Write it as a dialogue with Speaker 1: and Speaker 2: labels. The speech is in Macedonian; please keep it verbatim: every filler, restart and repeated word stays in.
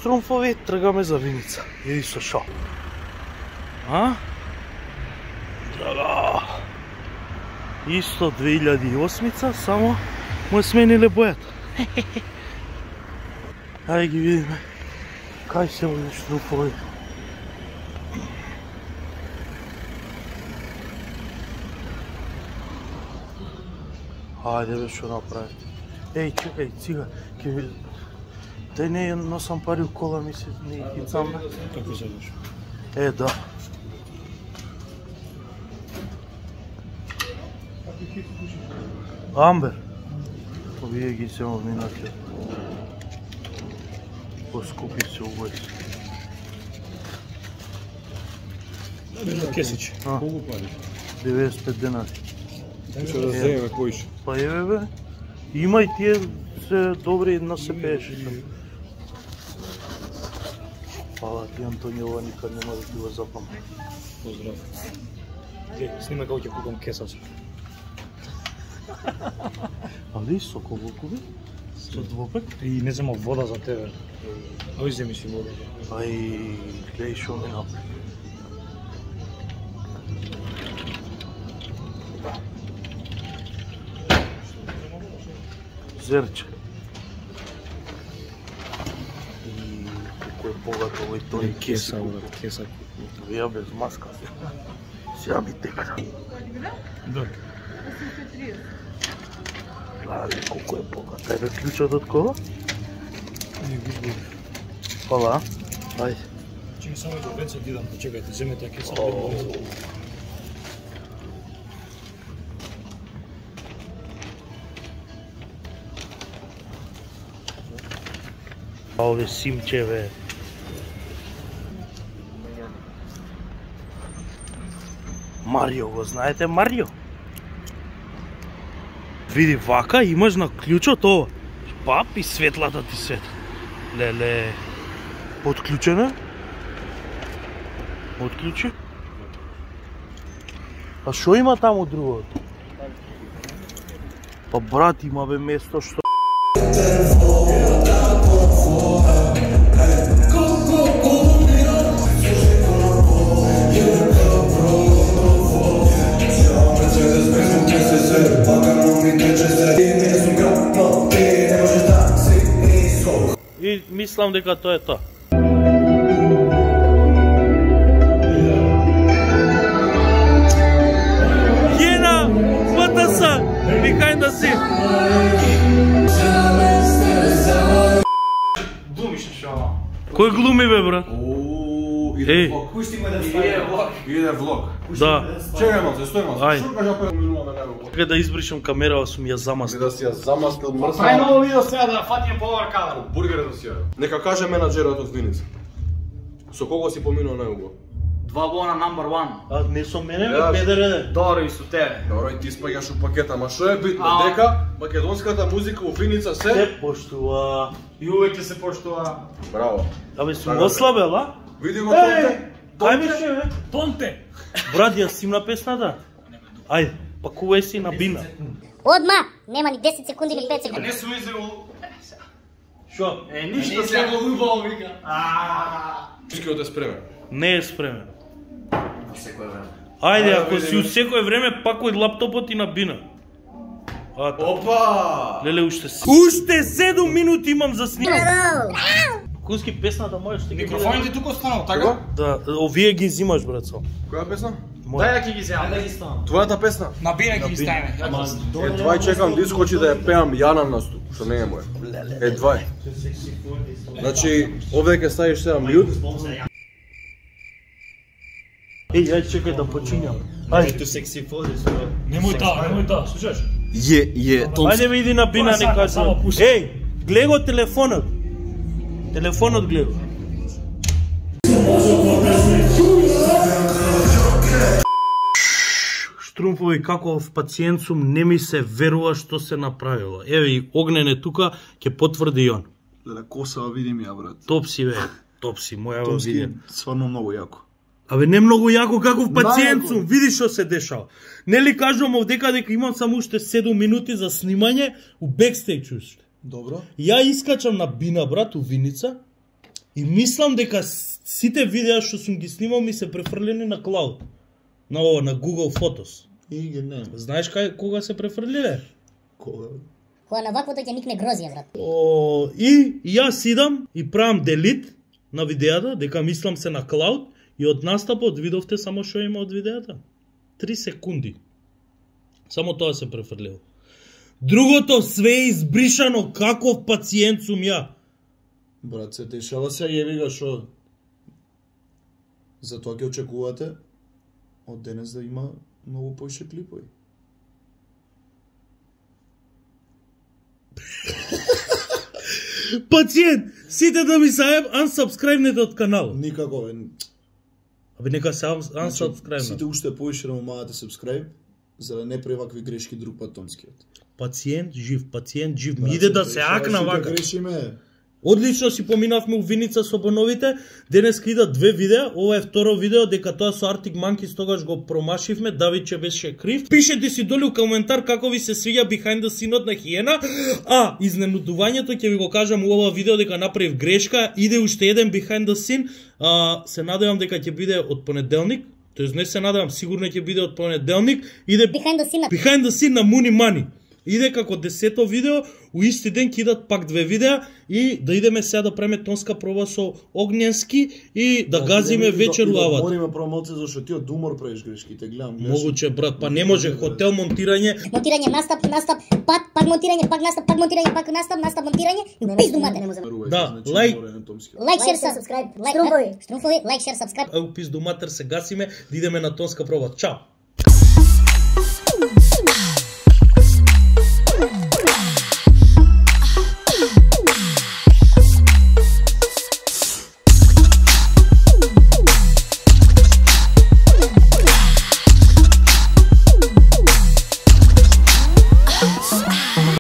Speaker 1: штрумфови, тргаме за Виница. Иди со шо. А? Драга. Исто две илјади и осмица, само му смениле бојата. Ајде ги видиме. Кај се овие штрумфови? Ајде бе, шо направи. Еј, чекај, цига, ке ви... Те не носам пари у кола, ми се не хицам, бе.
Speaker 2: Како се деш?
Speaker 1: Е, да. Амбер. Овие ги се минаќе. Поскупи се увој.
Speaker 2: Кесич. Колку пари?
Speaker 1: деветдесет и пет денари.
Speaker 2: Што да земеме поише?
Speaker 1: Па еве бе. Има и тие се добри на се пееше. Фала ти, Антонио, никад нема да ти го запам.
Speaker 2: Поздрав. Глеј, снимај како ќе купам кесач.
Speaker 1: Али сокол лукови? Со двопек?
Speaker 2: И не зема вода за тебе. Ај земи си вода.
Speaker 1: Ај, глеј шо ми направи. Зерче. И колко е богат овој тој
Speaker 2: Кеса, брат, кеса.
Speaker 1: Вија без маска. Сега ми тека.
Speaker 2: Да.
Speaker 1: Гледай колко е богат. Ајде клучот од кола?
Speaker 2: Не види.
Speaker 1: Фала. Ајде.
Speaker 2: Чекај само да веќе дидам, почекајте, земете ја кеса.
Speaker 1: А ове симчеве. Марио, го знаете Марио? Види, вака имаш на клучот ова. Пап и светлата ти свет. Леле. Отклучена? Отклучи? А шо има таму другото? Па брат, има бе место што... И мислам дека тоа е тоа. Јена, ПТС, behind the scene.
Speaker 3: Глумиш шо?
Speaker 1: Кој глуми бе, брат?
Speaker 4: Ооо,
Speaker 1: Еј.
Speaker 4: иде влог.
Speaker 3: Пусти ме да стави.
Speaker 4: Иде влог.
Speaker 1: Да.
Speaker 4: Чекај малце, стој малце.
Speaker 1: Ај.
Speaker 4: Што кажа па минуваме него?
Speaker 1: Кај да избришам камерава сум ја
Speaker 4: За
Speaker 1: замастил.
Speaker 4: да си ја замастил
Speaker 3: Прај
Speaker 4: мрсна.
Speaker 3: ново видео сега да фатиме повар кадр.
Speaker 4: Бургерот да си ја. Нека каже менаџерот од Виница. Со кого си поминал најуго?
Speaker 3: Два бона number one.
Speaker 1: А не со мене, бе,
Speaker 4: Јас.
Speaker 1: педере.
Speaker 3: Добро и со тебе.
Speaker 4: Добро, и ти спаѓаш у пакета, ма што е битно?
Speaker 3: А.
Speaker 4: Дека македонската музика у Виница се...
Speaker 1: Се поштува.
Speaker 3: И увеќе се поштува.
Speaker 4: Браво.
Speaker 1: Абе, сум
Speaker 4: Така.
Speaker 1: ослабел, а?
Speaker 4: Види го Тонте.
Speaker 1: Ајде ше, бе.
Speaker 2: Тонте!
Speaker 1: Брат, ја симна песната? Ајде, пакувај си на бина.
Speaker 5: Одма, нема ни десет секунди или пет секунди.
Speaker 3: Не су изелу.
Speaker 1: Шо?
Speaker 3: Е, ништо се го убаво вика. А.
Speaker 4: Чекај да спреме.
Speaker 1: Не е спремен.
Speaker 3: Секој време.
Speaker 1: Ајде,
Speaker 4: Ајде,
Speaker 1: ако си
Speaker 4: видиме.
Speaker 1: у секој време, пакувај лаптопот и на бина. А, та.
Speaker 4: Опа!
Speaker 1: Леле, уште с- уште седум минути имам за снимање.
Speaker 5: Браво!
Speaker 1: Куски песната можеш ти ги
Speaker 3: Микрофоните тука останал, така?
Speaker 1: Да, овие ги взимаш, брат, со.
Speaker 4: Која песна?
Speaker 3: Дај ја ќе ги земам. Да ги ставам.
Speaker 4: Твојата песна?
Speaker 3: На бина ќе ги ставиме.
Speaker 4: Е, двај чекам да искочи да ја пеам Јана наступ, што не е моја. Е, двај. Значи, овде ќе ставиш сега мјут.
Speaker 1: Еј, ајде чекај да починјам. Ајде,
Speaker 2: Немој да, немој да, слушаш?
Speaker 4: Е, е,
Speaker 1: ајде види на бина,
Speaker 2: Тоа
Speaker 1: не кажа.
Speaker 2: само пуши.
Speaker 1: Еј, гледай го телефонот. Телефонот гледай. Штрумфови, каков пациент сум, не ми се верува што се направило. Еве и Огнен е тука, ќе потврди и он.
Speaker 6: Да косава видим ја, брат.
Speaker 1: Топ си, бе, топ си, моја го
Speaker 6: Томски
Speaker 1: видим.
Speaker 6: сварно многу јако.
Speaker 1: Абе, не многу јако каков пациент
Speaker 6: Најако.
Speaker 1: сум, види што се дешава. Нели кажувам овдека дека имам само уште седум минути за снимање у бекстејдж уште.
Speaker 6: Добро.
Speaker 1: Ја искачам на бина, брат, у Виница, И мислам дека сите видеа што сум ги снимал ми се префрлени на клауд. На ова, на Google Photos.
Speaker 6: И ги нема.
Speaker 1: Знаеш кај кога се префрлиле?
Speaker 6: Кога?
Speaker 5: Кога на ваквото ќе никне грозија, брат.
Speaker 1: О, и јас идам и правам делит на видеата, дека мислам се на клауд и од настапот видовте само што има од видеата. Три секунди. Само тоа се префрлило. Другото све е избришано, каков пациент сум ја.
Speaker 6: Брат, се дешава се, јеби го шо. Затоа ќе очекувате од денес да има многу поише клипови.
Speaker 1: Пациент, сите да ми се unsubscribe-нете од канал.
Speaker 6: Никако, бе.
Speaker 1: Абе нека се
Speaker 6: Значи,
Speaker 1: unsubscribe.
Speaker 6: сите уште поише да му мавате subscribe, за да не прави вакви грешки друг пат томскиот.
Speaker 1: Пациент жив, пациент жив. Ми иде да се акна вака.
Speaker 6: Грешиме.
Speaker 1: Одлично си поминавме у Виница со боновите. Денеска идат две видеа. Ова е второ видео, дека тоа со Arctic Monkeys тогаш го промашивме. Давиче беше крив. Пишете си долу коментар како ви се свиѓа behind the scene-от на Хиена. А, изненудувањето ќе ви го кажам у ова видео дека направив грешка. Иде уште еден behind the scene. А, се надевам дека ќе биде од понеделник. Тоест не се надевам, сигурно ќе биде од понеделник. Иде
Speaker 5: Behind the scene.
Speaker 1: behind the scene на Муни Мани. Иде како десето видео, у исти ден ќе идат пак две видеа и да идеме сега да преме тонска проба со Огненски и да газиме вечер у Авата.
Speaker 6: Мориме прво малце зашто ти од умор правиш грешките, гледам, гледаш.
Speaker 1: Могуче брат, па не може хотел монтирање.
Speaker 5: Монтирање, настап, настап, пак, пак монтирање, пак настап, пак монтирање, пак настап, настап, монтирање. Пизду матер.
Speaker 1: Да, лайк.
Speaker 5: Лайк, шер, сабскрайб. Струмфови. Струмфови, лайк, шер, сабскрайб.
Speaker 1: Еу пизду матер се гасиме, да идеме на тонска проба. Чао.